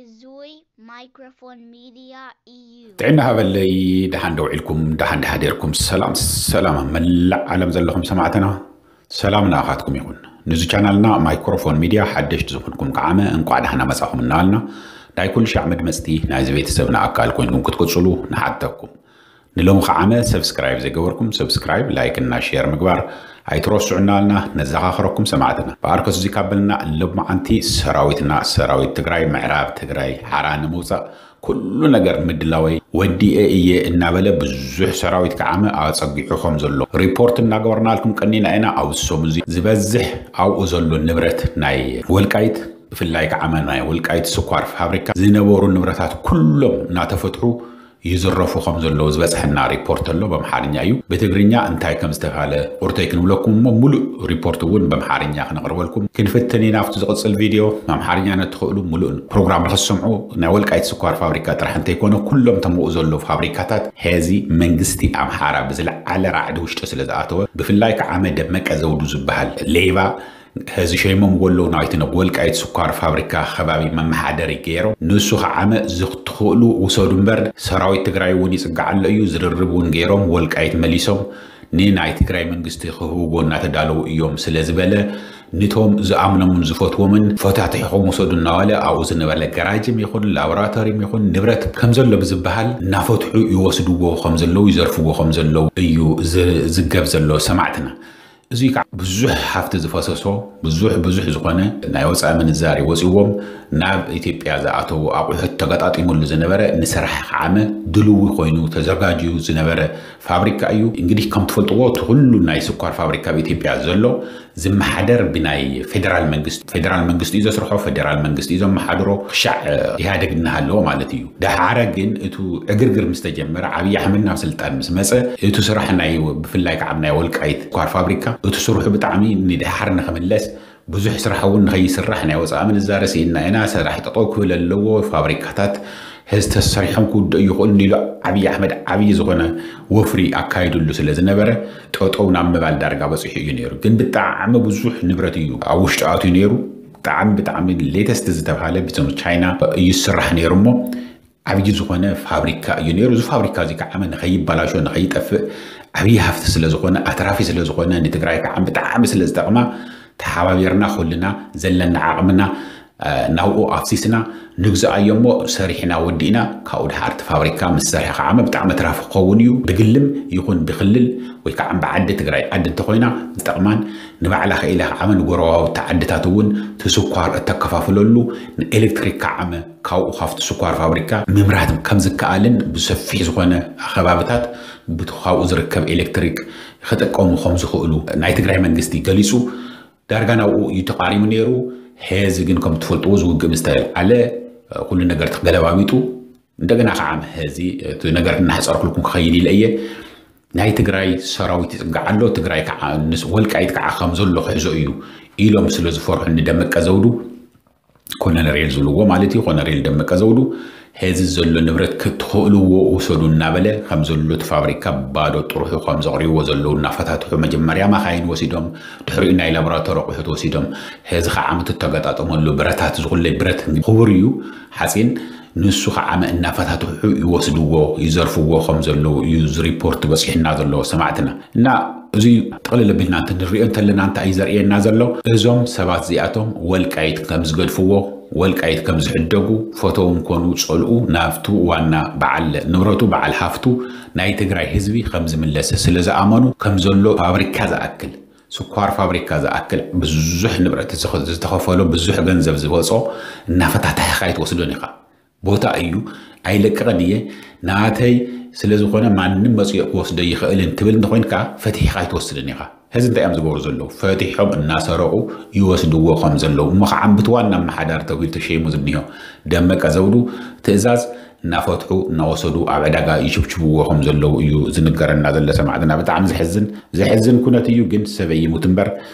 እዙይ ማይክሮፎን ሚድያ እዩ። ጥዕና ሃበለይ። ደሓን ደውዒልኩም፣ ደሓን ደሓዴርኩም። ሰላም ሰላም፣ መላእ ዓለም ዘለኹም ሰማዕትና፣ ሰላም ንኣኻትኩም ይኹን። ንዚ ቻናልና ማይክሮፎን ሚድያ ሓደሽቲ ዝኾንኩም ከዓመ እንቋዕ ደሓና መጻኹም እናበልና፣ ናይ ኩሉ ሻዕ መድመጽቲ ናይዚ ቤተሰብና ኣካል ኮይንኩም ክትቅጽሉ ንሓተኩም። ንሎሚ ከዓመ ሰብስክራይብ ዘይገበርኩም ሰብስክራይብ፣ ላይክ እና ሼር ምግባር ኣይትረስዑ እናበልና ነዘኻኽረኩም ሰማዕትና። ብኣርከስ እዚ ካበልና፣ ሎማዓንቲ ሰራዊትና፣ ሰራዊት ትግራይ፣ ምዕራብ ትግራይ ሓራ ንምውፃእ ኩሉ ነገር ምድላወይ ወዲኤ እየ እናበለ ብዙሕ ሰራዊት ከዓመ ኣፀጊዑ ከም ዘሎ ሪፖርት እናገበርናልኩም ቀኒና ኢና። ኣብ ሰሙን እዚ ዝበዝሕ ኣብኡ ዘሎ ንብረት ናይ ወልቃይት፣ ብፍላይ ከዓመ ናይ ወልቃይት ስኳር ፋብሪካ ዝነበሩ ንብረታት ኩሎም እናተፈትሑ ይዝረፉ ከም ዘለዉ ዝበፅሐና ሪፖርት ኣሎ። በምሓርኛ እዩ። ብትግርኛ እንታይ ከም ዝተባሃለ ቁርተይ ክንብለኩም እሞ፣ ሙሉእ ሪፖርት እውን በምሓርኛ ክነቕርበልኩም ክንፍትን ኢና። ኣብቲ ዝቕፅል ቪድዮ ኣምሓርኛ ነትኽእሉ ሙሉእ ፕሮግራም ንኽትሰምዑ፣ ናይ ወልቃይት ስኳር ፋብሪካ ጥራሕ እንተይኮነ፣ ኩሎም ተምኡ ዘለዉ ፋብሪካታት ሐዚ መንግስቲ ኣምሓራ ብዝለዓለ ራዕዲ ውሽጢ ስለ ዝኣተወ፣ ብፍላይ ከዓመ ደመቀ ዘውዱ ዝበሃል ሌባ፣ ሐዚ ሸይሞም ወለው ናይቲ ናብ ወልቃይት ስኳር ፋብሪካ ከባቢ መመሓደሪ ገይሮም፣ ንሱ ከዓመ ዝትኽእሉ ውሰዱ እምበር፣ ሰራዊት ትግራይ እውን ይፅጋዕ ኣሎ እዩ፣ ዝርርብ እውን ገይሮም፣ ወልቃይት መሊሶም ንናይ ትግራይ መንግስቲ ክህብዎ እናተዳለዉ እዮም ስለ ዝበለ፣ ንቶም ዝኣምኖምን ዝፈትዎምን ፈታቲሕኹም ውሰዱ እናበለ፣ ኣብኡ ዝነበረ ገራጅም ይኹን ላቦራቶሪም ይኹን ንብረት ከም ዘሎ ብዝበሃል እናፈትሑ ይወስድዎ ከም ዘለዉ፣ ይዘርፍዎ ከም ዘለዉ እዩ ዝዝገብ ዘሎ ሰማዕትና። እዙይ ከዓ ብዙሕ ሃፍቲ ዝፈሰሶ፣ ብዙሕ ብዙሕ ዝኾነ ናይ ወፃኢ ምንዛሪ ወፂዎም ናብ ኢትዮጵያ ዝኣተዉ ኣቑሑት ተገጣጢሙሉ ዝነበረ፣ ንስራሕ ከዓመ ድልዊ ኮይኑ ተዘጋጅዩ ዝነበረ ፋብሪካ እዩ። እንግዲህ ከም ትፈልጥዎ፣ እቲ ኩሉ ናይ ስኳር ፋብሪካ ኣብ ኢትዮጵያ ዘሎ ዝመሓደር ብናይ ፌደራል መንግስቲ፣ ፌደራል መንግስቲ እዩ ዘስርሖ፣ ፌደራል መንግስቲ እዩ ዘመሓድሮ። ክሻዕ ኢህኣደግ እናሃለዎ ማለት እዩ። ደሓረ ግን እቱ ዕግርግር ምስ ተጀመረ፣ ዓብዪ ኣሕመድ ናብ ስልጣን ምስ መፀ፣ እቱ ስራሕ ናይ፣ ብፍላይ ከዓ ናይ ወልቃይት ስኳር ፋብሪካ፣ እቱ ስርሑ ብጣዕሚ ንደሓር ንኽምለስ፣ ብዙሕ ስራሕ እውን ንኸይስራሕ ናይ ወፃኢ ምንዛረ ስኢንና ኢና፣ ስራሕ ጠጠው ክብል ኣለዎ፣ ፋብሪካታት ሕዚ ተሰሪሖም ክውድኡ ይኽእሉ ኢሉ ዓብዪ ኣሕመድ ዓብዪ ዝኾነ ወፍሪ ኣካይድሉ ስለ ዝነበረ፣ ጠጠው ናብ ምባል ዳርጋ በፂሑ እዩ ነይሩ። ግን ብጣዕሚ ብዙሕ ንብረት እዩ ኣብ ውሽጡ ኣትዩ ነይሩ። ብጣዕሚ ብጣዕሚ ሌተስት ዝተባሃለ ብቶም ቻይና እዩ ዝስራሕ ነይሩ እሞ፣ ዓብዪ ዝኾነ ፋብሪካ እዩ ነይሩ። እዚ ፋብሪካ እዚ ከዓ ንኸይበላሾ፣ ንኸይጠፍእ፣ ዓብዪ ሃፍቲ ስለ ዝኾነ፣ ኣትራፊ ስለ ዝኾነ፣ ንትግራይ ከዓ ብጣዕሚ ስለ ዝጠቕማ፣ ተሓባቢርና ኩልና ዘለና ዓቕምና፣ እ፣ ናብኡ ኣፍሲስና ንግዝኣዮ እሞ፣ ሰሪሕና ወዲእና፣ ካብኡ ድሓር እቲ ፋብሪካ ምስ ሰርሐ ከዓ ብጣዕሚ ኣትራፊ ክኸውን እዩ። ብግልም ይኹን ብክልል ወይ ከዓ ብዓዲ፣ ትግራይ ዓዲ እንተኾይና ዝጠቕማን፣ ንባዕላ ክኢላ ከዓ ንጎረባብቲ ዓድታት እውን እቲ ስኳር እተከፋፍለሉ፣ ንኤሌክትሪክ ከዓ ካብኡ ካብቲ ስኳር ፋብሪካ ምምራት ከም ዝከኣልን፣ ብሰፊሕ ዝኾነ ከባብታት ብቲ ካብኡ ዝርከብ ኤሌክትሪክ ክጥቀሙ ከም ዝኽእሉ ናይ ትግራይ መንግስቲ ገሊፁ። ዳርጋ ናብኡ እዩ ተቓሪቡ ነይሩ። ሐዚ ግን ከም ትፈልጥዎ፣ እዚ ውግእ ምስ ተልዓለ፣ ኩሉ ነገር ተገለባቢጡ፣ እንደገና ከዓ ሐዚ እቲ ነገር እናሕፀርኩልኩም ክኸይድ ኢለ እየ። ናይ ትግራይ ሰራዊት ይፅጋዕ ኣሎ፣ ትግራይ ከዓ፣ ንስ-፣ ወልቃይት ከዓ ከም ዘሎ ክሕዞ እዩ ኢሎም ስለ ዝፈርሑ፣ ንደመቀ ዘውዱ፣ ኮሎኔል ዝብልዎ ማለት እዩ፣ ኮሎኔል ደመቀ ዘውዱ፣ ሐዚ ዘሎ ንብረት ክትኽእልዎ ውሰዱ እናበለ፣ ከም ዘሎ እቲ ፋብሪካ ባዶ ጥርሑ ከም ዘቕርብዎ ዘለዉ እናፈታትሑ፣ መጀመርያ ማኻይን ወሲዶም፣ ድሕሪኡ ናይ ላቦራቶሪ ኣቑሑት ወሲዶም፣ ሐዚ ከዓ እቲ ተገጣጠመሉ ብረታት፣ ዝኹለይ ብረት ክቡር እዩ፣ ሓፂን፣ ንሱ ከዓ እናፈታትሑ ይወስድዎ፣ ይዘርፍዎ ከም ዘለዉ እዩ እዚ ሪፖርት በፂሑና ዘሎ ሰማዕትና። እና እዚ ጥቕልል ኣቢልና እንተ ንሪኦ እንተለና እንታይ እዩ ዘርእየና ዘሎ? እዞም ሰባት እዚኣቶም ወልቃይት ከም ዝገድፍዎ፣ ወልቃይት ከም ዝሕደጉ፣ ፈተው እንኮኑ ፀልኡ ናብቱ ዋና በዓል ንብረቱ፣ በዓል ሃፍቱ ናይ ትግራይ ህዝቢ ከም ዝምለስ ስለ ዝኣመኑ፣ ከም ዘሎ ፋብሪካ ዝኣክል፣ ስኳር ፋብሪካ ዝኣክል ብዙሕ ንብረት ዝኸ-፣ ዝተኸፈሎ፣ ብዙሕ ገንዘብ ዝወፆ እናፈታተሕኻ ኣይትወስዶን ኢኻ። ቦታ እዩ፣ ኣይለቅቕን እየ፣ ናተይ ስለ ዝኾነ ማንም መፂኡ ክወስዶ ይኽእልን ትብል እንተኾይንካ፣ ፈቲሕኻ ኣይትወስድን ኢኻ። ሕዚ እንታይ እዮም ዝገብሩ ዘለዉ? ፈቲሖም እናሰረቑ ይወስድዎ ከም ዘለዉ። እሞ ከዓ ብቲ ዋና ኣመሓዳሪ ተባሂሉ ተሸይሙ ዝኒሆ ደመቀ ዘውዱ ትእዛዝ እናፈትሑ እናወሰዱ ኣብ ዕዳጋ ይችብችብዎ ከም ዘለዉ እዩ ዝንገረና ዘሎ ሰማዕትና። ብጣዕሚ ዘሕዝን፣ ዘሕዝን ኩነት እዩ። ግን ሰብ ይሙት እምበር፣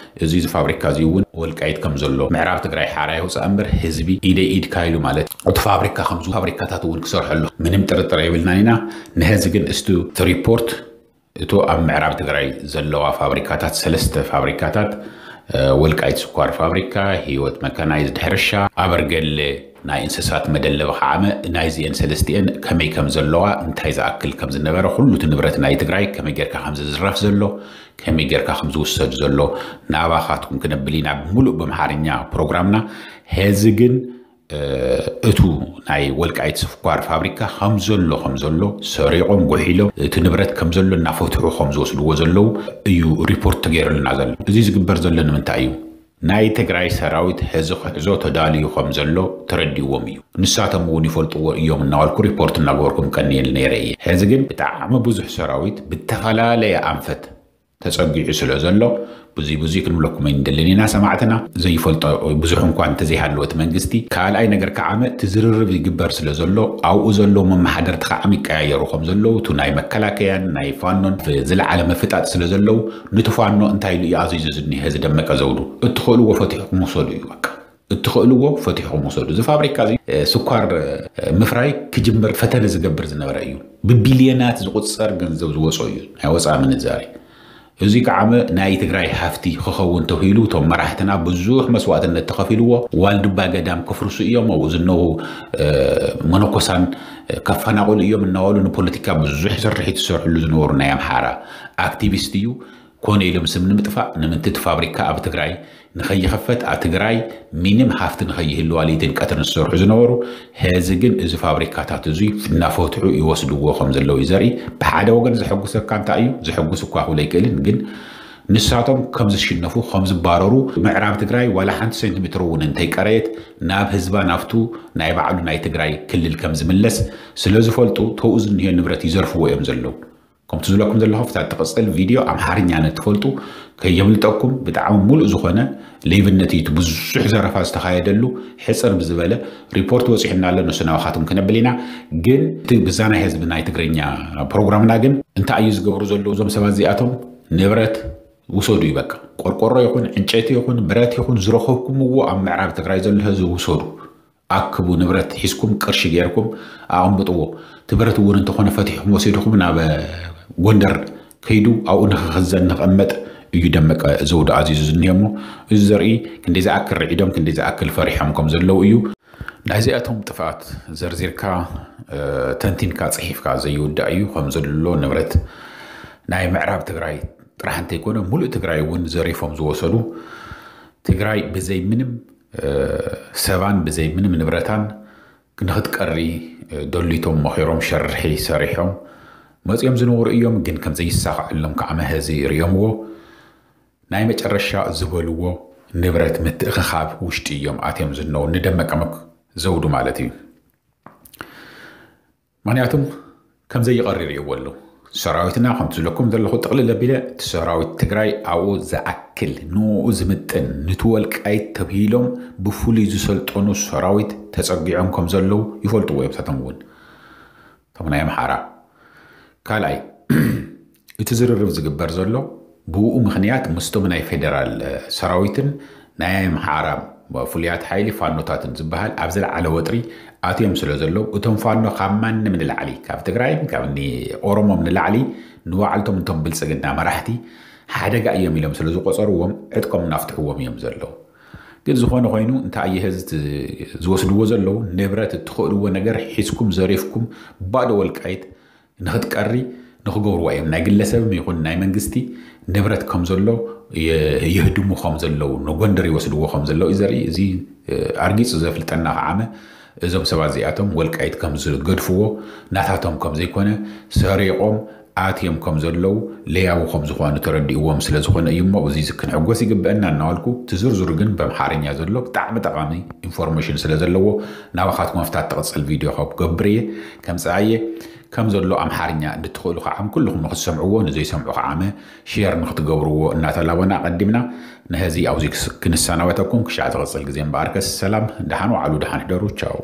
እዚ ፋብሪካ እዚ እውን ወልቃይት ከም ዘሎ፣ ምዕራብ ትግራይ ሓራ ይውፃእ እምበር ህዝቢ ኢደይ ኢድካ ኢሉ ማለት፣ እቲ ፋብሪካ ከምዚ ፋብሪካታት እውን ክሰርሐሉ ምንም ጥርጥር የብልናን ኢና። ንሕዚ ግን እስቲ እቲ ሪፖርት፣ እቱ ኣብ ምዕራብ ትግራይ ዘለዋ ፋብሪካታት፣ ሰለስተ ፋብሪካታት ወልቃይት ስኳር ፋብሪካ፣ ህይወት መካናይዝድ ሕርሻ፣ ኣበርገለ ናይ እንስሳት መደለቢ ከዓመ ናይዚኤን ሰለስቲኤን ከመይ ከም ዘለዋ፣ እንታይ ዝኣክል ከም ዝነበረ፣ ኩሉ እቲ ንብረት ናይ ትግራይ ከመይ ጌርካ ከም ዝዝረፍ ዘሎ፣ ከመይ ጌርካ ከም ዝውሰድ ዘሎ ናባኻትኩም ክነብል ኢና ብሙሉእ በምሓርኛ ፕሮግራምና። ሄዚ ግን እቱ ናይ ወልቃይት ስኳር ፋብሪካ ከም ዘሎ ከም ዘሎ ሰሪቖም ጉሒሎም እቲ ንብረት ከም ዘሎ እናፈትሑ ከም ዝወስድዎ ዘለዉ እዩ ሪፖርት ተገይሩልና ዘሎ። እዚ ዝግበር ዘሎ ንምንታይ እዩ? ናይ ትግራይ ሰራዊት ሕዚ ክሕዞ ተዳልዩ ከም ዘሎ ተረዲእዎም እዩ። ንሳቶም እውን ይፈልጥዎ እዮም እናበልኩ ሪፖርት እናገበርኩም ቀንየል ነይረ እየ። ሕዚ ግን ብጣዕሚ ብዙሕ ሰራዊት ብተፈላለየ ኣንፈት ተጸጊዑ ስለ ዘሎ ብዙይ ብዙይ ክንብለኩም ኣይንደልን ኢና ሰማዕትና። ዘይፈልጦ ብዙሕ እንኳን እንተዘይሃለወ እቲ መንግስቲ፣ ካልኣይ ነገር ከዓመ እቲ ዝርርብ ይግበር ስለ ዘሎ ኣብኡ ዘለዉ መመሓደርቲ ከዓም ይቀያየሩ ከም ዘለዉ፣ እቱ ናይ መከላከያን ናይ ፋኖን ዝለዓለ ምፍጣጥ ስለ ዘለዉ፣ ንትፋኖ እንታይ ኢሉ እዩ ኣዚዙ ዝኒሀ ዝደመቀ ዘውዱ? እትኽእልዎ ፈቲሕኩም ውሰዱ እዩ በቃ። እትኽእልዎ ፈቲሕኩም ውሰዱ። እዚ ፋብሪካ እዚ ስኳር ምፍራይ ክጅምር ፈተነ ዝገብር ዝነበረ እዩ። ብቢልዮናት ዝቁፀር ገንዘብ ዝወፀ እዩ፣ ናይ ወፃኢ ምንዛሪ። እዚ ከዓመ ናይ ትግራይ ሃፍቲ ክኸውን ተባሂሉ እቶም መራሕትና ብዙሕ መስዋእትነት ተኸፊልዎ። ዋልድባ ገዳም ክፍርሱ እዮም፣ ኣብኡ ዝነው መነኮሳን ከፈናቕሉ እዮም እናበሉ ንፖለቲካ ብዙሕ ስርሒት ዝሰርሕሉ ዝነበሩ ናይ ኣምሓራ ኣክቲቪስት እዩ። ኮነ ኢሎም ስም ንምጥፋእ ንምንቲ እቲ ፋብሪካ ኣብ ትግራይ ንኸይኸፈት፣ ኣብ ትግራይ ሚኒም ሃፍቲ ንኸይህልዋ ለይትን ቀትርን ዝሰርሑ ዝነበሩ፣ ሄዚ ግን እዚ ፋብሪካታት እዙይ እናፈትሑ ይወስድዎ ከም ዘለዉ እዩ ዘርኢ። ብሓደ ወገን ዘሐጉሰካ እንታይ እዩ? ዘሐጉስ እኳ ክብል ኣይክእልን፣ ግን ንሳቶም ከም ዝሽነፉ ከም ዝባረሩ፣ ምዕራብ ትግራይ ዋላ ሓንቲ ሴንቲሜትር እውን እንተይቀረየት ናብ ህዝባ ናብቱ ናይ ባዕሉ ናይ ትግራይ ክልል ከም ዝምለስ ስለ ዝፈልጡ ተውኡ ዝንሄ ንብረት ይዘርፍዎ እዮም ዘለዉ። ከምቲ ዝብለኩም ዘለኹ ፍታት ትቕፅል ቪድዮ ኣምሓርኛ ነትፈልጡ ከየምልጠኩም። ብጣዕሚ ሙሉእ ዝኾነ ሌብነት እዩ እቲ ብዙሕ ዘረፋ ዝተኻየደሉ። ሕፅር ብዝበለ ሪፖርት ወፂሑና ኣሎ፣ ንሱ ናባኻትኩም ክነብል ኢና። ግን እቲ ብዛ ናይ ህዝቢ ናይ ትግርኛ ፕሮግራምና ግን እንታይ እዩ ዝገብሩ ዘለዉ እዞም ሰባት እዚኣቶም? ንብረት ውሰዱ እዩ በቃ። ቆርቆሮ ይኹን ዕንጨይቲ ይኹን ብረት ይኹን ዝረኸብኩምዎ ኣብ ምዕራብ ትግራይ ዘሎ ህዝቢ ውሰዱ። ኣክቡ፣ ንብረት ሒዝኩም ቅርሺ ገይርኩም ኣቐምጥዎ። እቲ ብረት እውን እንተኾነ ፈቲሕኩም ወሲድኩም ናብ ጎንደር ከይዱ ኣብኡ ንክኽዘን ንክቕመጥ እዩ ደመቀ ዘውዱ ኣዚዙ ዝኒሄ እሞ፣ እዚ ዘርኢ ክንደይ ዝኣክል ርዒዶም ክንደይ ዝኣክል ፈሪሖም ከም ዘለዉ እዩ። ናይዚኣቶም ጥፍኣት ዘርዚርካ ተንቲንካ ፅሒፍካ ዘይውዳእ እዩ። ከም ዘሎ ንብረት ናይ ምዕራብ ትግራይ ጥራሕ እንተይኮነ ሙሉእ ትግራይ እውን ዘሪፎም ዝወሰዱ፣ ትግራይ ብዘይ ምንም ሰባን ብዘይ ምንም ንብረታን ንክትቀሪ ደሊቶም መኺሮም ሸርሒ ሰሪሖም መፂኦም ዝነበሩ እዮም። ግን ከም ዘይሳኻዐሎም ከዓ መሀዚ ርእዮምዎ ናይ መጨረሻ ዝበልዎ ንብረት ምትእኽኻብ ውሽጢ እዮም ኣትዮም ዝነው ንደመቀ መክ-፣ ዘውዱ ማለት እዩ። ምክንያቱም ከም ዘይቐሪ ርእይዎ ኣለዉ። ሰራዊትና ከምቲ ዝብለኩም ዘለኹ ጥቕልል ኣቢለ እቲ ሰራዊት ትግራይ ኣብኡ ዝኣክል ንኡ ዝምጥን ንቲ ወልቃይት ተብሂሎም ብፍሉይ ዝሰልጠኑ ሰራዊት ተጸጊዖም ከም ዘለዉ ይፈልጥዎ እዮም። ሳቶም እውን እቶም ናይ ኣምሓራ ካልኣይ እቲ ዝርርብ ዝግበር ዘሎ ብኡ ምክንያት ምስቶም ናይ ፌደራል ሰራዊትን ናይ ኣምሓራ ፍሉያት ሓይሊ ፋኖታትን ዝበሃል ኣብ ዝለዓለ ወጥሪ ኣትዮም ስለ ዘለዉ እቶም ፋኖ ካብ ማንም ንላዕሊ ካብ ትግራይን ካብ ኦሮሞም ንላዕሊ ንባዕልቶም እቶም ብልፅግና መራሕቲ ሓደጋ እዮም ኢሎም ስለ ዝቆፀርዎም ዕጥቆም እናፍትሕዎም እዮም ዘለዉ። ግን ዝኾነ ኮይኑ እንታይ ኣየሀ ዝወስድዎ ዘለዉ ንብረት እትኽእልዎ ነገር ሒዝኩም ዘሪፍኩም ባዶ ወልቃይት ንኽትቀሪ ንኽገብርዋ እዮም። ናይ ግለሰብም ይኹን ናይ መንግስቲ ንብረት ከም ዘሎ የህድሙ ከም ዘለዉ ንጎንደር ይወስድዎ ከም ዘለዉ እዩ ዘርኢ። እዚ ኣርጊፁ ዘፍልጠና ከዓመ እዞም ሰባት እዚኣቶም ወልቃይት ከም ዝገድፍዎ ናታቶም ከም ዘይኮነ ሰሪቖም ኣትዮም ከም ዘለዉ ለያቡ ከም ዝኾኑ ተረዲእዎም ስለ ዝኾነ እዩ እሞ እዚ ክንሕጎስ ይግበአና እናበልኩ እቲ ዝርዝሩ ግን በምሓርኛ ዘሎ ብጣዕሚ ጠቓሚ ኢንፎርሜሽን ስለ ዘለዎ ናባኻትኩም ኣብታ ትቕፅል ቪድዮ ካብ ክገብር እየ ከምፅኣየ ከም ዘሎ ኣምሓርኛ እንትትኽእሉ ከዓ ኩልኹም ንክትሰምዕዎ ንዘይሰምዑ ከዓመ ሼር ንክትገብርዎ እናተላበና ኣቐዲምና ንህዚ ኣብዚ ክንሰናበተኩም ክሻዕ ዝቕፅል ግዜ እምበኣርከስ ሰላም ደሓን ዋዕሉ ደሓን ሕደሩ ቻው።